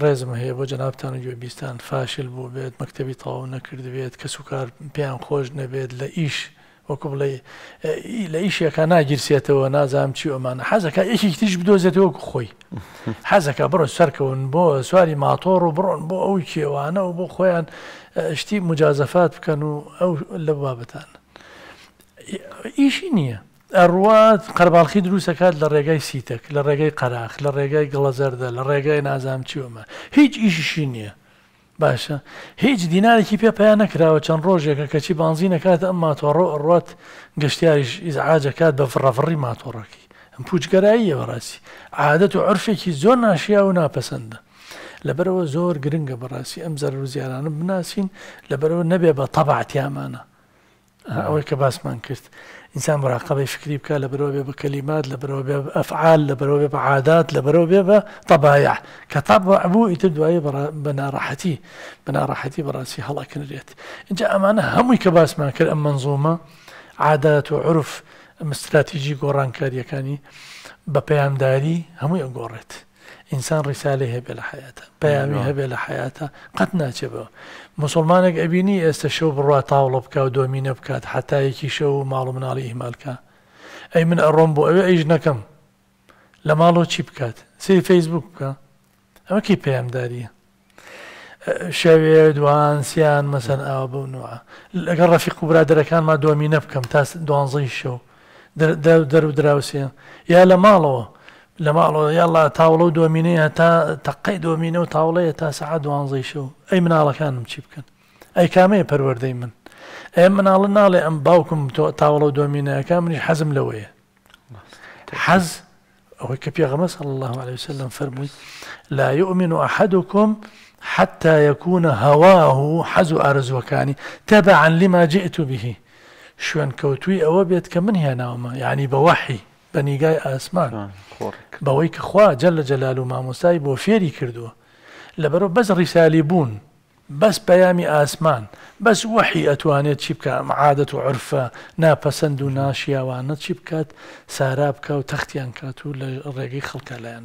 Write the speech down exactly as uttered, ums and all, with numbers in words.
ڕێزم هەیە بۆ جەنابتان و گوێبیستان فاشل بوو بێت، مەکتەبی تەواو نەکردبێت، کەس و کار پێیان خۆش نەبێت، لە ئیش وەکو بڵێ لە ئیشێکا ناگیرسێتەوە، نازانم چی ئەمانە، حەزەکە یەکێکی تریش بدۆزێتەوە وەکو خۆی، حەزەکە بڕۆ سەرکەون بۆ سواری ماتۆڕ و بڕۆن بۆ ئەو کێوانە و بۆ خۆیان شتی مجازەفات بکەن و ئەو لە بابەتان ئیشی نییە. ئەڕوات قەرباڵخی دروستەکات لە ڕێگای سیتەک، لە ڕێگای قەراخ، لە ڕێگای گڵەزەردە، لە ڕێگای نازام چیۆمە، هیچ ئیشیشی نییە. باشە هیچ دینارێکی پێ پیا نەکراوە، چەند ڕۆژێکە کەچی بانزینەکات ئەم ماتۆڕۆ ئەڕوات گەشتیاریش ئیزعاجەکات بە فڕەفڕی ماتۆڕەکەی. ئەم پوچگەراییە بەڕاستی عادەت و عرفێکی زۆر ناشیا و ناپەسەندە. لەبەرەوە زۆر گرنگە بەڕاستی ئەم زەرەر و زیارانە بناسین، لەبەرەوە نەبێ بە تەبعتیامانە. ئەوەی کە باسمان کرد ئینسان مراقبەی فکری بکە، لەبەرەوە بێ بە کەلیمات، لەبەرەوە بێ بە ئەفعال، لەبەرەوە بێ بە عادات، لەبەرەوە بێ بە تەبایع کە تەبع بوو ئیتر دوایی بە ناڕەحەتی بە ناڕەحەتی بەڕاستی هەڵەکنرێت. اینجا ئەمانە هەمووی کە باسمان کرد ئەم منزومە عادات و عرف ئەم استراتیژی گۆڕانکاریەکانی بە پەیامداری هەمووی ئەگۆڕێت. ئینسان ڕیسالەی هەبێ لە حیاتە، پەیامی هەبێ لە حیاتە، قەت ناچێ بەوە. مسلمانێک ئەبینی ئێستا شەو بڕوا تاوڵە بکا و دۆمینە بکات حتا یەکی شەو و ماڵ و مناڵی ئیهمال کا. ئەی من ئەڕۆم بۆ ئەوێ ئەیش نەکەم، لە ماڵەوە چی بکات؟ سەیری فەیسبوک بکە. ئەمە کی پەیامداریە؟ شەوێ دوان سیان مەسەن ئاوا بەو نوعە لەگەڵ ڕەفیق و برادەرەکانما دۆمینە بکەم تا دوانزەی شەو دەر و دراوسێ، یا لە ماڵەوە لە ماڵەوە یاڵا تاوڵە و دۆمینەیە تا تەقەی دۆمینە و تاوڵەیە تا سەعات دوانزەی شەو. ئەی مناڵەکانم چی بکەن؟ ئەی کامەیە پەروەردەی من؟ ئەی مناڵە ناڵێ ئەم باوکم تاوڵە و دۆمینەکە منیش حەزم لەوەیە. حەز ئەوەی کە پێغەمبەر صلی الله عليه وسلم فەرمووی لا يؤمن أحدكم حتى يكون هواه حەز و ئارەزوەکانی تبعا لما جئت به، شوێن کەوتووی ئەوە بێت کە من هێناومە، یعنی بە وەحی بە نیگای ئاسمان، بەوەی کە خوا جەلە جەلال و مامۆستای بۆ فێری کردووە. لەبەرەوە بەس ڕیسالی بوون، بەس پەیامی ئاسمان، بەس وەحی ئەتوانێت چی بکە ئەم عادەت و عرفە ناپەسەند و ناشیاوانە چی بکات، سارا بکە و تەختیان کات و لە ڕێگەی خەڵکە لایەن.